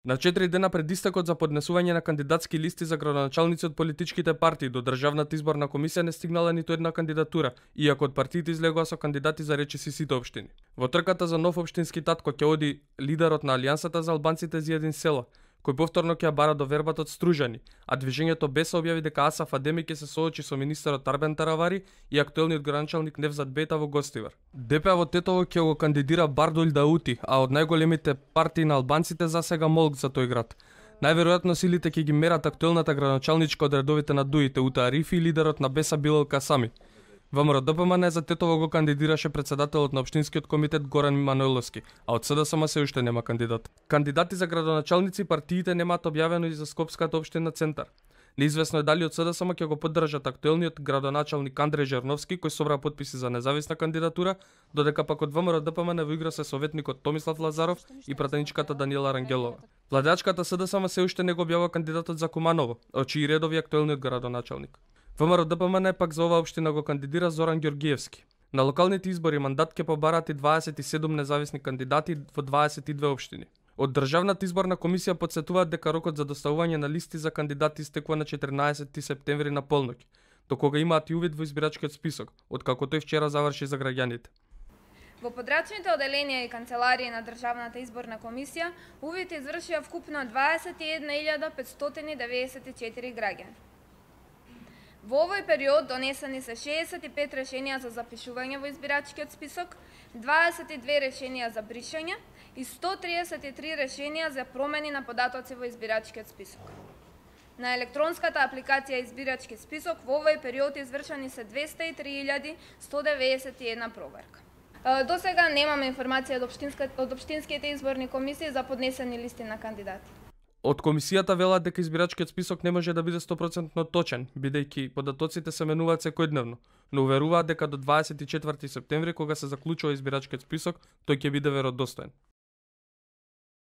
На 4 дена пред истекот за поднесување на кандидатски листи за градоначалници од политичките партии до Државната изборна комисија не стигнала ниту една кандидатура, иако од партиите излегоа со кандидати за речиси сите општини. Во трката за нов општински татко ќе оди лидерот на Алијансата за албанците за един село, кој повторно ќе ја бара до вербата од Стружани, а движењето БЕС објави дека Асаф Адеми ќе се соочи со министерот Арбен Таравари и актуелниот градоначалник Невзат Бета во Гостивар. ДП во Тетово ќе го кандидира Бардулј Даути, а од најголемите партии на албанците засега Молк за тој град. Најверојатно силите ќе ги мерат актуелната градоначалничка од редовите на Дуите, Ута Арифи и лидерот на БЕСа Билал Касами. ВМРО ДПМН за Тетово го кандидираше председателот на општинскиот комитет Горан Манойловски, а од СДСМ се уште нема кандидат. Кандидати за градоначалници партиите немаат објавено и за Скопската општина Центар. Неизвестно е дали од СДСМ ќе го поддржат актуелниот градоначалник Андреј Жерновски, кој собра подписи за независна кандидатура, додека пак од ВМРО ДПМН во игра се советникот Томислав Лазаров и пратеничката Даниела Рангелова. Владеачката СДСМ се уште не го објавува кандидатот за Куманово, од чии редови актуелниот градоначалник. ВМРО ДПМН пак за оваа општина го кандидира Зоран Ѓоргиевски. На локалните избори мандат ќе побарат и 27 независни кандидати во 22 општини. Од Државната изборна комисија потсетуваат дека рокот за доставување на листи за кандидати истекува на 14 септември на полноќ, до кога имаат и увид во избирачкиот список, откако тој вчера заврши за граѓаните. Во подрачните оделенија и канцеларии на Државната изборна комисија увид извршија вкупно 21.594 граѓани. Во овој период донесени се 65 решенија за запишување во избирачкиот список, 22 решенија за бришање и 133 решенија за промени на податоци во избирачкиот список. На електронската апликација избирачки список во овој период извршени се 203.191 проверка. До сега немаме информација од општинските изборни комисии за поднесени листи на кандидати. Од комисијата велат дека избирачкиот список не може да биде 100% точен, бидејќи податоците се менуваат секојдневно, но уверуваат дека до 24 септември, кога се заклучува избирачкиот список, тој ќе биде веродостоен.